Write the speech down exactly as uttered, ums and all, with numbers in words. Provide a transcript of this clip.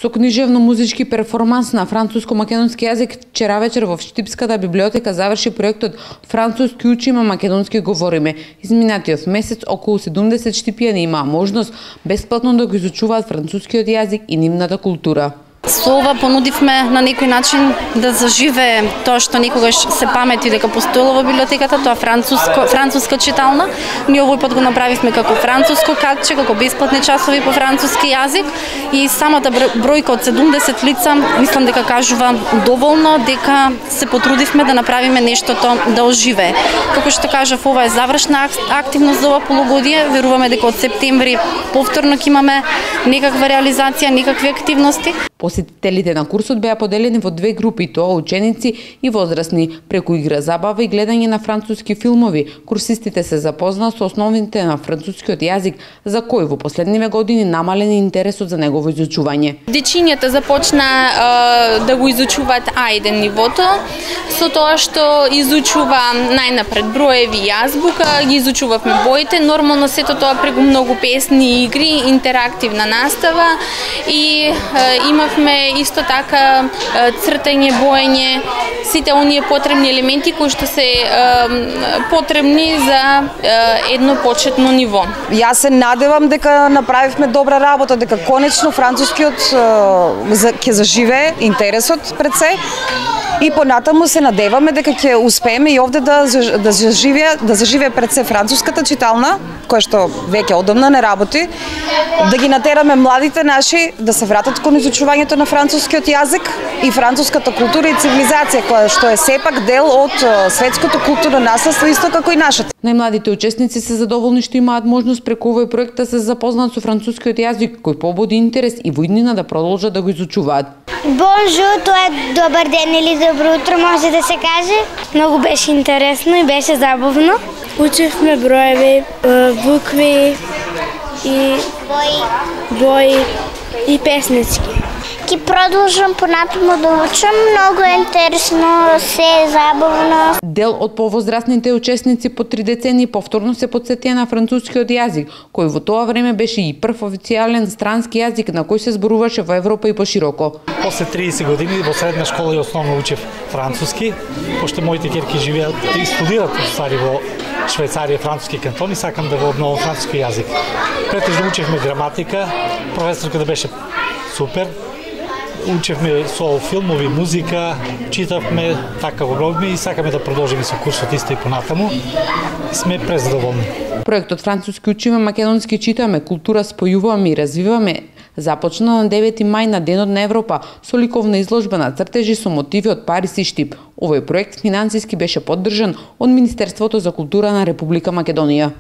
Со книжевно-музички перформанс на француско-македонски јазик вчера вечер во Штипската библиотека заврши проектот Француски учиме, македонски говориме. Изминатиот месец околу седумдесет штипјани имаа можност бесплатно да го изучуваат францускиот јазик и нивната култура. Со ова понудивме на некој начин да заживее тоа што некогаш се памети дека постоело во библиотеката, тоа француско француска читална. Ние овој пат го направивме како француско катче, како бесплатни часови по француски јазик и самата бројка од седумдесет лица мислам дека кажува доволно дека се потрудивме да направиме нештото да оживее. Како што кажав, ова е завршна активност за ова полугодие. Веруваме дека од септември повторно ќе имаме некаква реализација, некакви активности. Посетителите на курсот беа поделени во две групи, тоа ученици и возрастни. Преку игра, забава и гледање на француски филмови, курсистите се запозна со основите на францускиот јазик, за кој во последниве години намален интересот за негово изучување. Дечињата започна е, да го изучуваат А еден нивото, со тоа што изучува најнапред броеви и азбука, ги изучувавме боите, нормално сето тоа преку многу песни, игри, интерактивна настава и е, имавме исто така цртање, боење, сите оние потребни елементи кои што се е, потребни за е, едно почетно ниво. Јас се надевам дека направивме добра работа, дека конечно францускиот ќе заживее интересот пред се. И понатаму се надеваме дека ќе успееме и овде да да заживее, да заживее пред се француската читална, која што веќе одамна не работи, да ги натераме младите наши да се вратат кон изучувањето на францускиот јазик и француската култура и цивилизација, која што е сепак дел од светското културно наследство, исто како и нашата. Најмладите учесници се задоволни што имаат можност преку овој проект да се запознаат со францускиот јазик, кој побуди интерес и во иднина да продолжат да го изучуваат. Бонжур, тоа е добар ден или добро утро, може да се каже. Многу беше интересно и беше забавно. Учевме броеви, букви и бои, бои и песнички. Ки продолжам понатаму да учам, многу е интересно, се е забавно. Дел од повозрастните учесници по три децени повторно се потсетија на францускиот јазик, кој во тоа време беше и прв официјален странски јазик на кој се зборуваше во Европа и пошироко. После триесет години во средна школа и основно учев француски, пошто моите ќерки живеат и студираат стари во Швајцарија, француски кантони, сакам да го обновам француски јазик. Претежно учевме граматика, професорката беше супер. Учевме со филмови, музика, читавме, така го обновиме и сакаме да продолжиме со курсот исто и понатаму. Сме презадоволни. Проектот Француски учиме, македонски читаме, култура спојуваме и развиваме започна на девети мај на Денот на Европа со ликовна изложба на цртежи со мотиви од Париз и Штип. Овој проект финансиски беше поддржан од Министерството за култура на Република Македонија.